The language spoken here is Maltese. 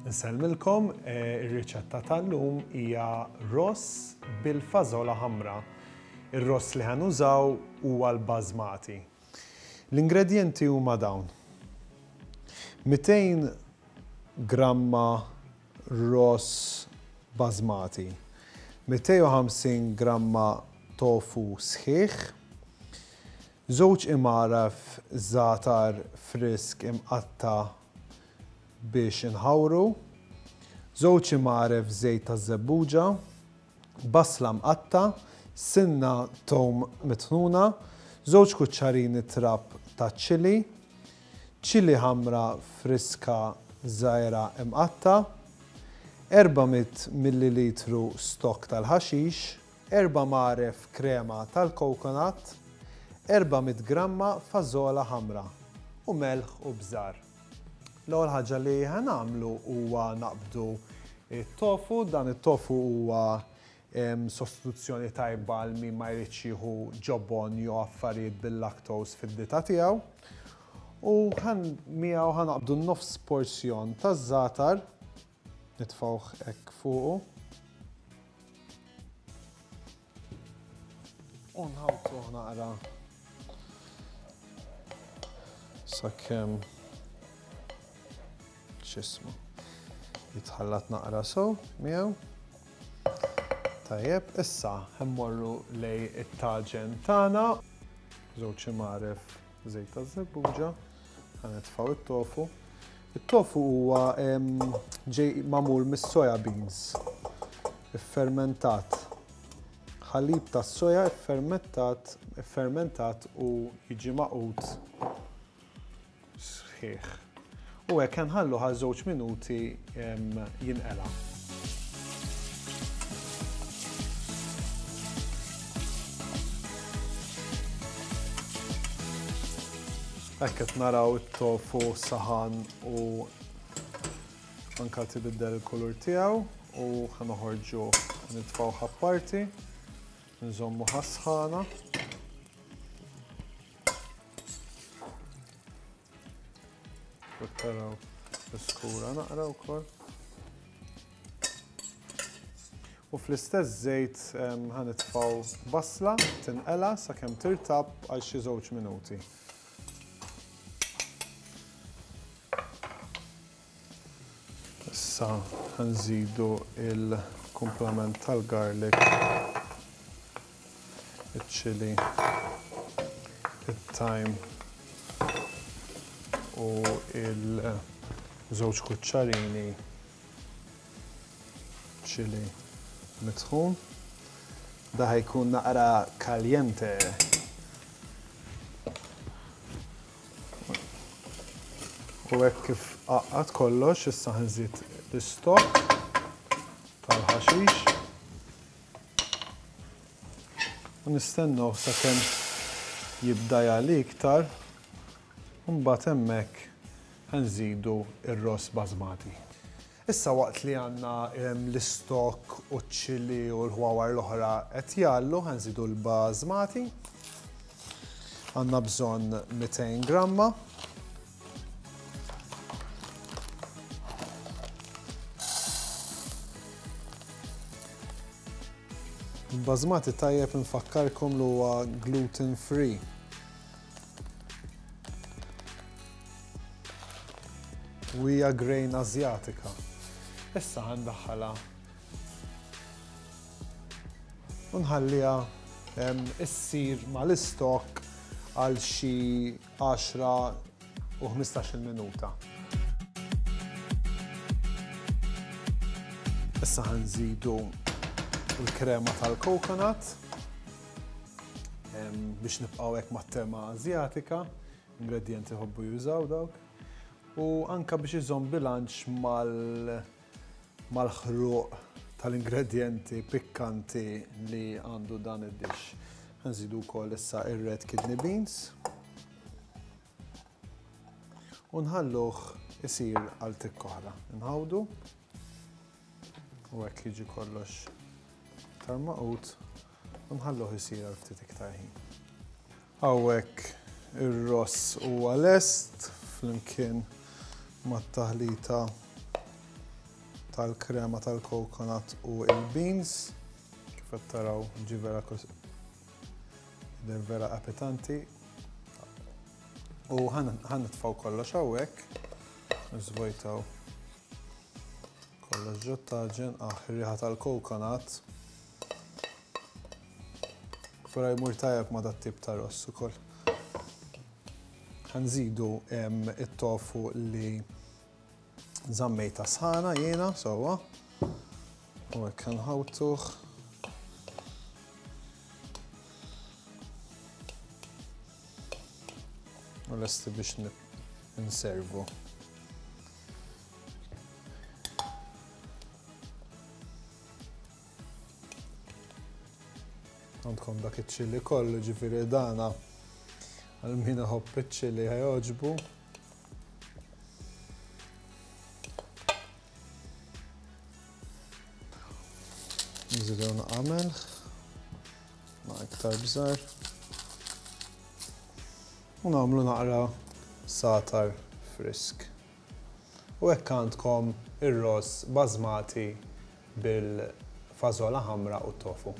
Insellmilkom, ir-riċetta tal-lum hija ross bil-fażola ħamra. Ir-ross li ħa nużaw huwa l-basmati. L-ingredjenti huma dawn. 200 gramma ross basmati, 250 gramma tofu sħiħ, żewġ imgħaraf żgħatar frisk imqatta' biex inħawru, żewġ imgħaref żejt taż-żebbuġa, basla mqatta', sinna tewm mitħnuna, żewġ kuċċarini trab taċ-chilli, chilli ħamra friska żgħira imqatta', 400 millilitru stokk tal-ħaxix, Erba' mgħaref krema tal-coconut, 400 gramma fażola ħamra u melħ u bżar. L-ewwel ħaġa li ħa nagħmlu huwa naqbdu t-tofu, dan it-tofu huwa sostituzzjoni tajba għal min ma jridx jieħu ġobon jew affarijiet bil-lactose fid-dieta tiegħu. U miegħu ħa naqbdu nofs porzjon taż-żgħatar, nitfgħuh hekk fuqu. U nħawtuh naqra sakemm x'ismu jitħallat naqra sew miegħu. Tajjeb, issa ħemmorru lej it-taġen tagħna. Żewġ imgħaref żejt taż-żebbuġa, ħa nitfgħu it-tofu. It-tofu huwa ġej magħmul mis-soya beans iffermentat. Ħalib tas-soja iffermentat, iffermentat u jiġi magħqud sħiħ. U hekk nħallu għal żewġ minuti jinqela. Hekk qed naraw it-tofu saħan u anka tibiddel il-kulur tiegħu u ħa noħorġu nitfgħuh apparti, nżommu ħasħana. Taraw l-iskura naqra wkoll. U fl-istess żejt ħa nitfgħu basla tinqela sakemm tirtab għal xi żewġ minuti. Issa ħa nżidu il-kumplament tal-garlic, iċ-chili, it-thyme u il-żewġ kuċċarini chili mitħun. Da ħajkun naqra caliente. U hekk kif għaqqad kollox, issa ħanżid l-istokk tal-ħaxix. U nistennew sakemm jibda jagħli iktar, u mbagħad hemmhekk ħanżidu r-ross basmati. Issa waqt li għandna l-istokk u ċ-chili u l-ħwawar l-oħra qed jgħallu, ħa nżidu l-basmati. Għandna bżonn 200 gramma. Il-basmati tajjeb infakkarkom li huwa gluten free. U hija grain Asjatika. Issa ħa ndaħħalha u nħalliha issir mal-istokk għal xi 10 u 15-il minuta. Issa ħa nżidu l-krema tal-coconut biex nibqgħu hekk mat-tema Asjatika. Ingredjenti jħobbu jużaw dawk. U anka biex iżomm bilanċ mal mal-ħruq tal-ingredjenti pikkanti li għandu dan id-dish. Nżidu wkoll issa ir-red kidney beans. U nħalluh isir għal tikk oħra. Nħawdu. U hekk jiġi kollox iktar maqut u nħalluh isir għal ftit iktar ħin. Hawnhekk ir-ross huwa lest flimkien mat-taħlita. tal-krema tal-coconut u il-beans. Kif qed taraw ġi vera vera appetanti. U ħa nitfgħu kollox hawnhekk. Nżvojtaw kollox ġot-taġen, ah, riħa tal-coconut. Vera jmur tajjeb ma' dat-tip ta' ross ukoll. Ħa nżidu it-tofu li żammejta sħana jiena sewwa. U hekk nħawtuh. U lesti biex nservu. Għandkom dak iċ-ċili kollu, ġifieri dana għal min iħobb iċ-ċili ħajogħġbu. Nżidu naqamel, ma' iktar bżar. U nagħmlu naqra satar frisk. U hekk għandkom ir-ross basmati bil-fażola ħamra u t-tofu.